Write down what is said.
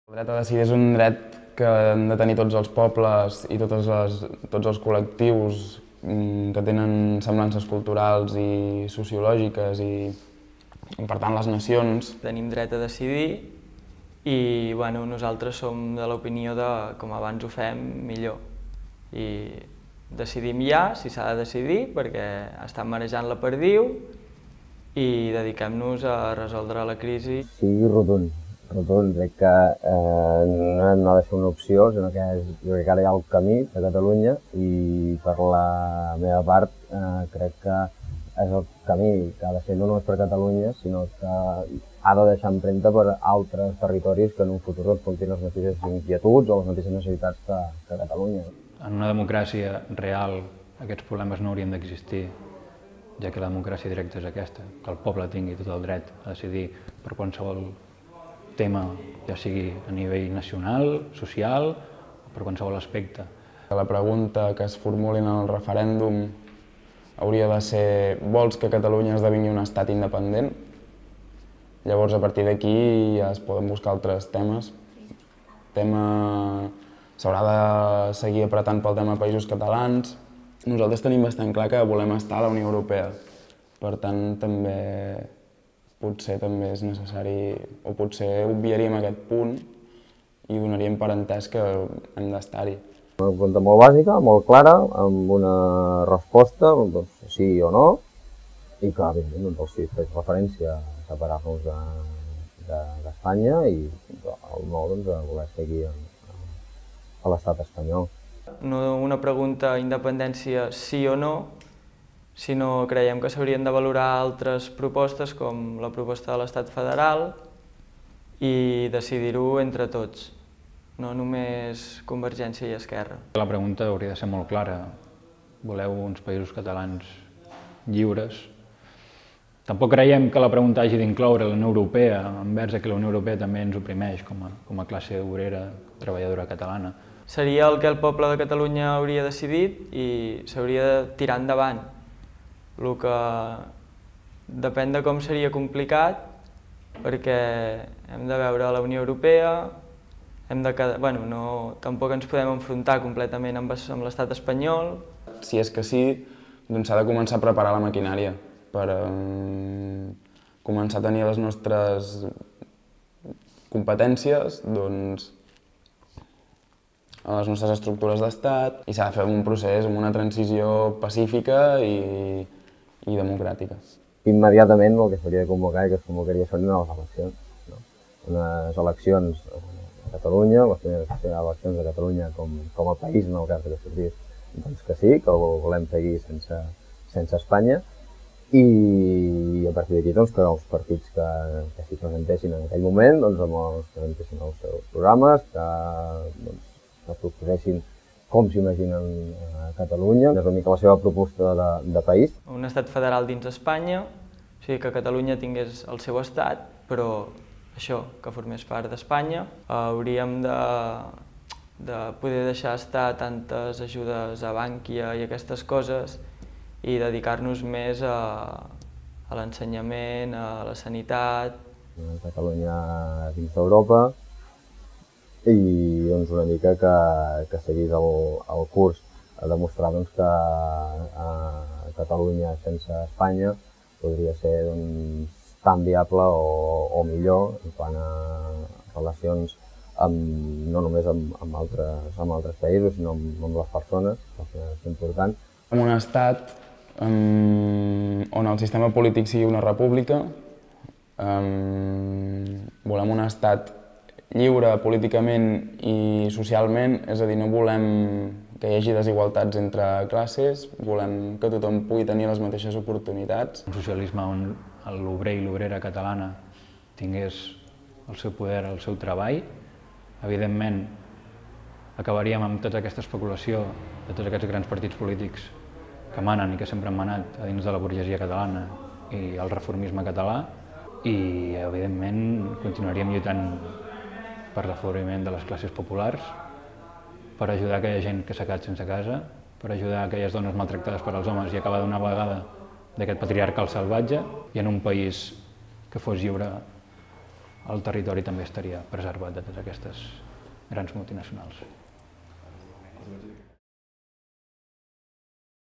El dret a decidir és un dret que han de tenir tots els pobles i tots els col·lectius que tenen semblances culturals i sociològiques i, per tant, les nacions. Tenim dret a decidir i nosaltres som de l'opinió de com abans ho fem, millor. I decidim ja, si s'ha de decidir, perquè estan marejant la perdiu i dediquem-nos a resoldre la crisi. Sí, rotund. Crec que no ha de ser una opció, sinó que jo crec que ara hi ha el camí de Catalunya i per la meva part crec que és el camí que ha de ser no només per Catalunya, sinó que ha de deixar empremta per altres territoris que en un futur puguin tenir les mateixes inquietuds o les mateixes necessitats que Catalunya. En una democràcia real aquests problemes no haurien d'existir, ja que la democràcia directa és aquesta, que el poble tingui tot el dret a decidir per qualsevol tema, ja sigui a nivell nacional, social o per qualsevol aspecte. La pregunta que es formuli en el referèndum hauria de ser: vols que Catalunya esdevingui un estat independent? Llavors, a partir d'aquí ja es poden buscar altres temes. S'haurà de seguir apretant pel tema països catalans. Nosaltres tenim bastant clar que volem estar a la Unió Europea. Per tant, potser també és necessari, o potser obviaríem aquest punt i donaríem per entès que hem d'estar-hi. Una pregunta molt bàsica, molt clara, amb una resposta, sí o no, i que, evidentment, si fes referència a separar-nos d'Espanya i el no a voler seguir a l'estat espanyol. No una pregunta independència sí o no, sinó creiem que s'haurien de valorar altres propostes com la proposta de l'estat federal i decidir-ho entre tots, no només Convergència i Esquerra. La pregunta hauria de ser molt clara. Voleu uns països catalans lliures? Tampoc creiem que la pregunta hagi d'incloure la Unió Europea, envers que la Unió Europea també ens oprimeix com a classe obrera, treballadora catalana. Seria el que el poble de Catalunya hauria decidit i s'hauria de tirar endavant. El que depèn de com seria complicat, perquè hem de veure la Unió Europea, tampoc ens podem enfrontar completament amb l'estat espanyol. Si és que sí, doncs s'ha de començar a preparar la maquinària per començar a tenir les nostres competències a les nostres estructures d'estat i s'ha de fer un procés amb una transició pacífica i democràtica. Immediatament el que s'hauria de convocar i que es convocaria són unes eleccions. Unes eleccions a Catalunya, les primeres eleccions a Catalunya com a país, en el cas que sortís, doncs que sí, que ho volem seguir sense Espanya, i a partir d'aquí que els partits que s'hi presentessin en aquell moment presentessin els seus programes, que proposessin com s'imaginen a Catalunya, és una mica la seva proposta de país. Un estat federal dins Espanya, o sigui que Catalunya tingués el seu estat, però això, que formés part d'Espanya. Hauríem de poder deixar estar tantes ajudes a Bànquia i aquestes coses i dedicar-nos més a l'ensenyament, a la sanitat. Catalunya dins d'Europa i una mica que seguís el curs a demostrar que Catalunya sense Espanya podria ser tan viable o millor en quant a relacions no només amb altres països, sinó amb les persones, que és important. En un estat on el sistema polític sigui una república, volem un estat lliure políticament i socialment, és a dir, no volem que hi hagi desigualtats entre classes, volem que tothom pugui tenir les mateixes oportunitats. Un socialisme on l'obrer i l'obrera catalana tingués el seu poder, el seu treball, evidentment acabaríem amb tota aquesta especulació de tots aquests grans partits polítics que manen i que sempre han manat a dins de la burgesia catalana i el reformisme català, i evidentment continuaríem lluitant per l'afavoriment de les classes populars, per ajudar aquella gent que s'ha quedat sense casa, per ajudar aquelles dones maltractades per als homes i acabar d'una vegada d'aquest patriarcal salvatge, i en un país que fos lliure el territori també estaria preservat de totes aquestes grans multinacionals.